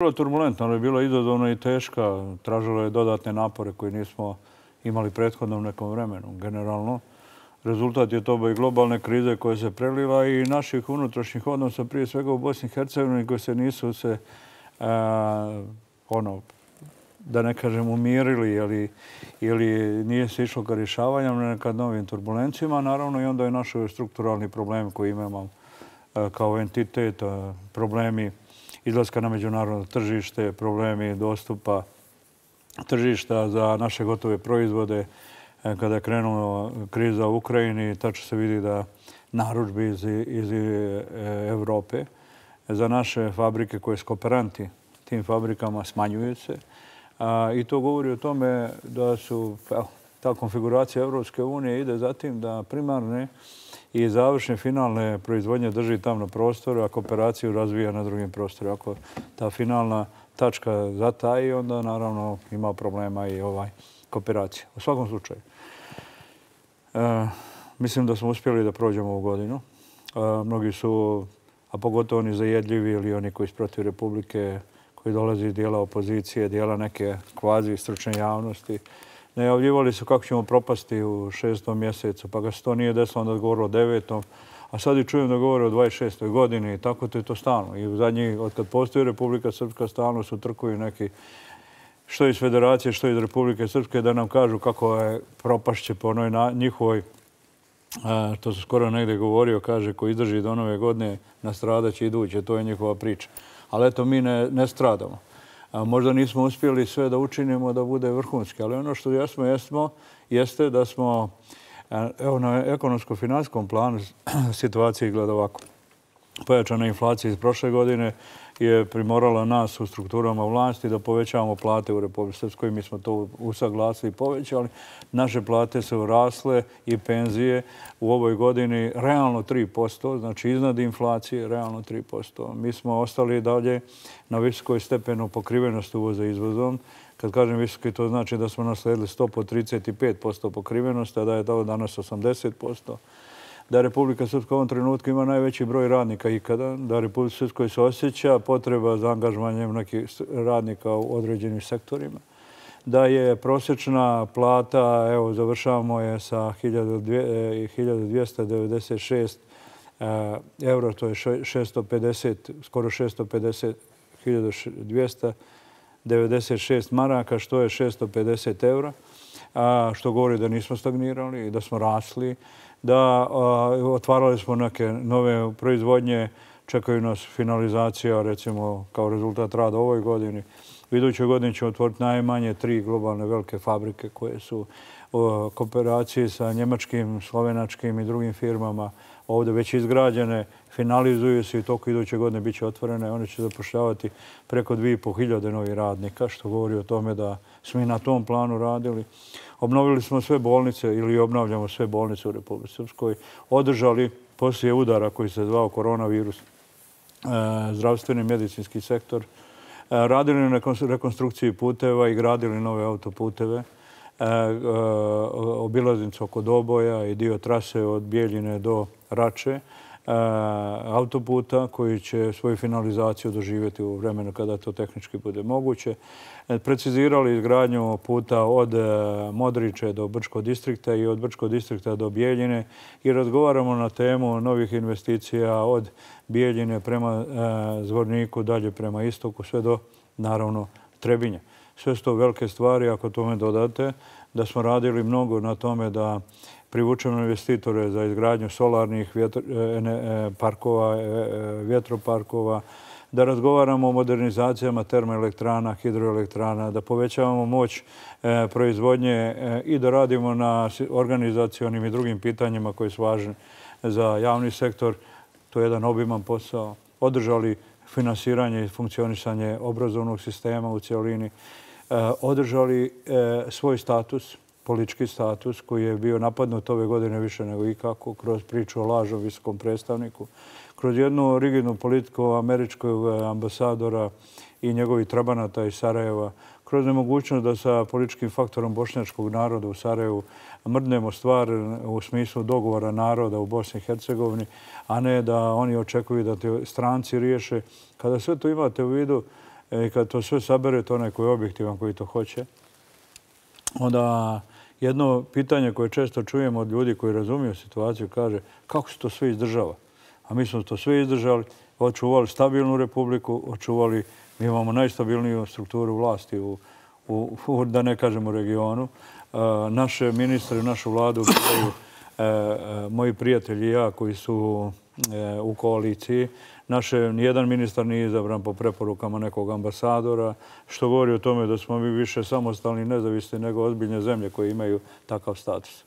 Bilo turbulentno, ali je bilo izazovno i teška. Tražilo je dodatne napore koje nismo imali prethodno u nekom vremenu. Generalno, rezultat je to i globalne krize koja se prelila i naših unutrašnjih odnosa, prije svega u Bosni i Hercegovini, koji se nisu da ne kažem, umirili ili nije se išlo ka rješavanju, nekad novim turbulencijama. Naravno, i onda je naš strukturalni problem koji imamo kao entitet, problemi izlaska na međunarodno tržište, problemi dostupa tržišta za naše gotove proizvode. Kada je krenula kriza u Ukrajini, tačno se vidi da narudžbe iz Evrope za naše fabrike koje su kooperanti tim fabrikama smanjuju se. I to govori o tome da ta konfiguracija Evropske unije ide za tim da primarne i završne finalne proizvodnje drži tamo na prostoru, a kooperaciju razvija na drugim prostorima. Ako ta finalna tačka zataji, onda naravno ima problema i kooperacija. U svakom slučaju, mislim da smo uspjeli da prođemo ovu godinu. Mnogi su, a pogotovo oni zajedljivi ili oni koji su protiv Republike, koji dolaze iz dijela opozicije, dijela neke kvazi stručne javnosti, najavljivali su kako ćemo propasti u 6. mjesecu, pa ga se to nije desilo, onda govorilo o 9. A sad i čujem da govore o 26. godini i tako to je to stalno. I u zadnji, od kad postoji Republika Srpska, stalno su trkuju neki što iz Federacije, što iz Republike Srpske da nam kažu kako je propašće po onoj njihovoj, to su skoro negdje govorio, kaže ko izdrži do nove godine nastradaće iduće, to je njihova priča. Ali eto, mi ne stradamo. Možda nismo uspjeli sve da učinimo da bude vrhunski, ali ono što jeste da smo na ekonomsko-finanskom planu situacija izgleda ovako. Pojačana inflacija iz prošle godine je primorala nas u strukturama vlasti da povećavamo plate u Republici Srpskoj. Mi smo to usaglasili i povećali. Naše plate su rasle i penzije u ovoj godini realno 3%, znači iznad inflacije realno 3%. Mi smo ostali dalje na visokoj stepenu pokrivenosti uvoza izvozom. Kad kažem visoki, to znači da smo nasledili stopu od 35% pokrivenosti, a da je to danas 80%. Da Republika Srpska u ovom trenutku ima najveći broj radnika ikada, da Republika Srpskoj se osjeća potreba za angažovanjem nekih radnika u određenim sektorima, da je prosječna plata, evo završavamo je sa 1296 euro, to je 650, skoro 650, 1296 maraka, što je 650 eura, što govori da nismo stagnirali i da smo rasli, da otvarali smo neke nove proizvodnje, čekaju nas finalizacija, recimo kao rezultat rada u ovoj godini. U idućoj godini ćemo otvoriti najmanje 3 globalne velike fabrike koje su u kooperaciji sa njemačkim, slovenačkim i drugim firmama ovdje već izgrađene, finalizuju se i toliko iduće godine bit će otvorene. One će zapošljavati preko 2500 novih radnika, što govori o tome da smo i na tom planu radili. Obnovili smo sve bolnice ili obnavljamo sve bolnice u Republici Srpskoj. Održali poslije udara koji se zvao koronavirus, zdravstveni medicinski sektor. Radili na rekonstrukciji puteva i gradili nove autoputeve. Obilaznicu oko Doboja i dio trase od Bijeljine do Rače. Autoputa koji će svoju finalizaciju doživjeti u vremenu kada to tehnički bude moguće. Precizirali izgradnju puta od Modriče do Brčkog distrikta i od Brčkog distrikta do Bijeljine i razgovaramo na temu novih investicija od Bijeljine prema Zvorniku, dalje prema istoku, sve do, naravno, Trebinja. Sve su to velike stvari, ako tome dodate, da smo radili mnogo na tome da privučemo investitore za izgradnju solarnih parkova, vjetroparkova, da razgovaramo o modernizacijama termoelektrana, hidroelektrana, da povećavamo moć proizvodnje i da radimo na organizacionim i drugim pitanjima koji su važni za javni sektor. To je jedan obiman posao. Održali finansiranje i funkcionisanje obrazovnog sistema u cijelini. Održali svoj status, politički status koji je bio napadnut ove godine više nego ikako kroz priču o lažnom visokom predstavniku, kroz jednu rigidnu politiku američkog ambasadora i njegovih trabanata iz Sarajeva, kroz nemogućnost da sa političkim faktorom bošnjačkog naroda u Sarajevu mrdnemo stvar u smislu dogovora naroda u Bosni i Hercegovini, a ne da oni očekuju da te stranci riješe. Kada sve to imate u vidu, I kad to sve sabere, to onaj koji je objektivan, koji to hoće, onda jedno pitanje koje često čujemo od ljudi koji razumiju situaciju kaže kako se to sve izdržava. A mi smo to sve izdržali, očuvali stabilnu republiku, očuvali, mi imamo najstabilniju strukturu vlasti da ne kažem u regionu. Naše ministre, našu vladu biraju moji prijatelji i ja koji su u koaliciji. Nijedan ministar nije izabran po preporukama nekog ambasadora, što govori o tome da smo mi više samostalni i nezavisni nego ozbiljne zemlje koje imaju takav status.